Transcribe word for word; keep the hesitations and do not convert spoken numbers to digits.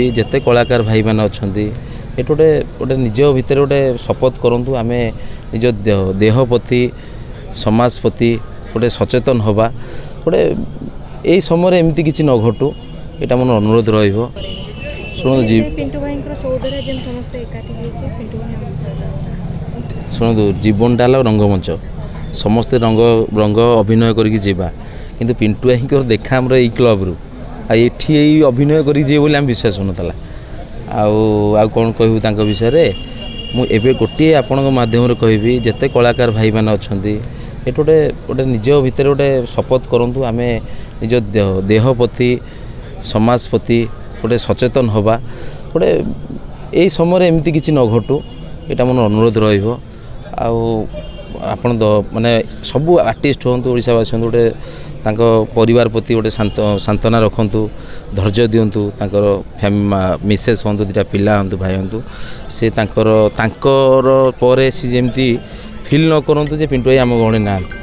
ଯେତେ କଳାକାର ଭାଇମାନେ ଅଛନ୍ତି, ଏଠି ଗୋଟେ ଗୋଟେ ନିଜ ଭିତରେ ଗୋଟେ ଶପଥ କରନ୍ତୁ, ଆମେ ନିଜ ଦେହ ପ୍ରତି, ସମାଜ ପ୍ରତି ଗୋଟେ ସଚେତନ ହେବା। ଗୋଟେ ଏଇ ସମୟରେ ଏମିତି କିଛି ନ ଘଟୁ, ଏଇଟା ମୋର ଅନୁରୋଧ ରହିବ। ଶୁଣନ୍ତୁ, ପିଣ୍ଟୁ ଭାଇଙ୍କର ଚଉଦରେ ଯେମିତି ସମସ୍ତେ ଏକାଠି ହେଇଛେ, ପିଣ୍ଟୁ ଭାଇ ଆମ ସହିତ। ଶୁଣନ୍ତୁ, ଜୀବନଟା ହେଲା ରଙ୍ଗମଞ୍ଚ, ସମସ୍ତେ ରଙ୍ଗ ରଙ୍ଗ ଅଭିନୟ କରିକି ଯିବା। କିନ୍ତୁ ପିଣ୍ଟୁ ଭାଇଙ୍କର ଦେଖା ଆମର ଏଇ କ୍ଲବରୁ, ଆଉ ଏଠି ଏଇ ଅଭିନୟ କରିକି ଯିବେ ବୋଲି ଆମେ ବିଶ୍ୱାସ ହେଉନଥିଲା। ଆଉ ଆଉ କ'ଣ କହିବୁ ତାଙ୍କ ବିଷୟରେ? ମୁଁ ଏବେ ଗୋଟିଏ ଆପଣଙ୍କ ମାଧ୍ୟମରେ କହିବି, ଯେତେ କଳାକାର ଭାଇମାନେ ଅଛନ୍ତି, ଏଠି ଗୋଟେ ଗୋଟେ ନିଜ ଭିତରେ ଗୋଟେ ଶପଥ କରନ୍ତୁ, ଆମେ ନିଜ ଦେହ ପ୍ରତି, ସମାଜ ପ୍ରତି ଗୋଟେ ସଚେତନ ହେବା। ଗୋଟେ ଏଇ ସମୟରେ ଏମିତି କିଛି ନ ଘଟୁ, ଏଇଟା ମୋର ଅନୁରୋଧ ରହିବ। ଆଉ ଆପଣ ମାନେ ସବୁ ଆର୍ଟିଷ୍ଟ ହୁଅନ୍ତୁ, ଓଡ଼ିଶାବାସୀ ହୁଅନ୍ତୁ, ଗୋଟେ ତାଙ୍କ ପରିବାର ପ୍ରତି ଗୋଟେ ଶାନ୍ତ ସାନ୍ତ୍ୱନା ରଖନ୍ତୁ, ଧୈର୍ଯ୍ୟ ଦିଅନ୍ତୁ। ତାଙ୍କର ମିସେସ୍ ହୁଅନ୍ତୁ, ଦୁଇଟା ପିଲା ହୁଅନ୍ତୁ, ଭାଇ ହୁଅନ୍ତୁ, ସେ ତାଙ୍କର ତାଙ୍କର ପରେ ସେ ଯେମିତି ଫିଲ୍ ନ କରନ୍ତୁ ଯେ ପିଣ୍ଟୁ ଭାଇ ଆମ ଗହଣରେ ନାହାନ୍ତି।